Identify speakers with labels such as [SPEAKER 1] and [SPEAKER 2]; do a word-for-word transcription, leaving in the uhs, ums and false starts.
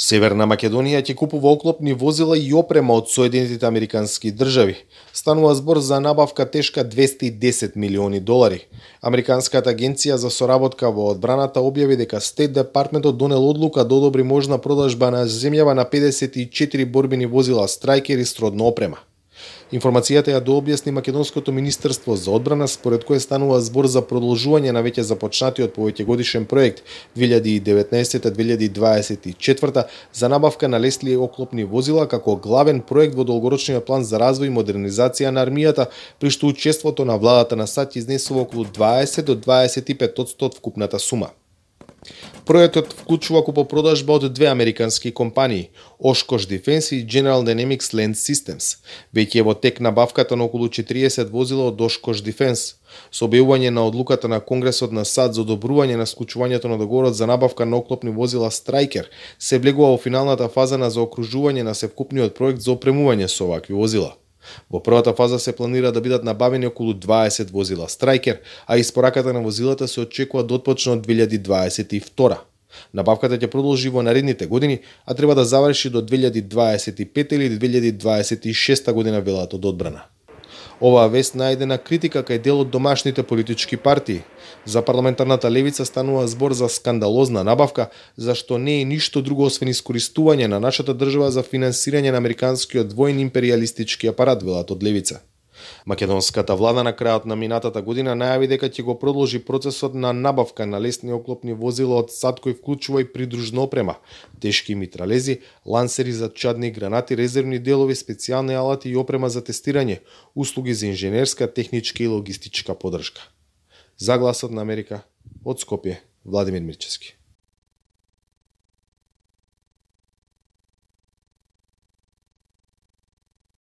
[SPEAKER 1] Северна Македонија ќе купува оклопни возила и опрема од Соединетите Американски држави. Станува збор за набавка тешка двесте и десет милиони долари. Американската агенција за соработка во одбраната објави дека Стейт Департментот донел одлука да одобри можна продажба на земјава на педесет и четири борбени возила Страјкер и сродна опрема. Информацијата ја дообјасни Македонското министерство за одбрана, според кое станува збор за продолжување на веќе започнатиот повеќегодишен проект две илјади и деветнаесетта - две илјади дваесет и четврта за набавка на лесни оклопни возила како главен проект во долгорочниот план за развој и модернизација на армијата, при што учеството на владата на САД изнесува околу дваесет до дваесет и пет одсто од вкупната сума. Проектот вклучува купопродажба од две американски компании, Oshkosh Defense и General Dynamics Land Systems. Веќе е во тек набавката на околу четириесет возила од Oshkosh Defense. Со објавување на одлуката на Конгресот на САД за одобрување на склучувањето на договорот за набавка на оклопни возила Страјкер, се влегува во финалната фаза на заокружување на севкупниот проект за опремување со овакви возила. Во првата фаза се планира да бидат набавени околу дваесет возила Страјкер, а испораката на возилата се очекува да отпочне од две илјади дваесет и втора. Набавката ќе продолжи во наредните години, а треба да заврши до две илјади дваесет и пета или две илјади дваесет и шеста година, велат од одбрана. Оваа вест најдена критика кај дел од домашните политички партии. За парламентарната левица станува збор за скандалозна набавка, зашто не е ништо друго освен искористување на нашата држава за финансирање на американскиот воен империалистички апарат, велат од левица. Македонската влада на крајот на минатата година најави дека ќе го продолжи процесот на набавка на лесни оклопни возила од САД, кој вклучува и придружна опрема, тешки митралези, лансери за чадни гранати, резервни делови, специјални алати и опрема за тестирање, услуги за инженерска, техничка и логистичка поддршка. За Гласот на Америка, од Скопје, Владимир Мирчевски.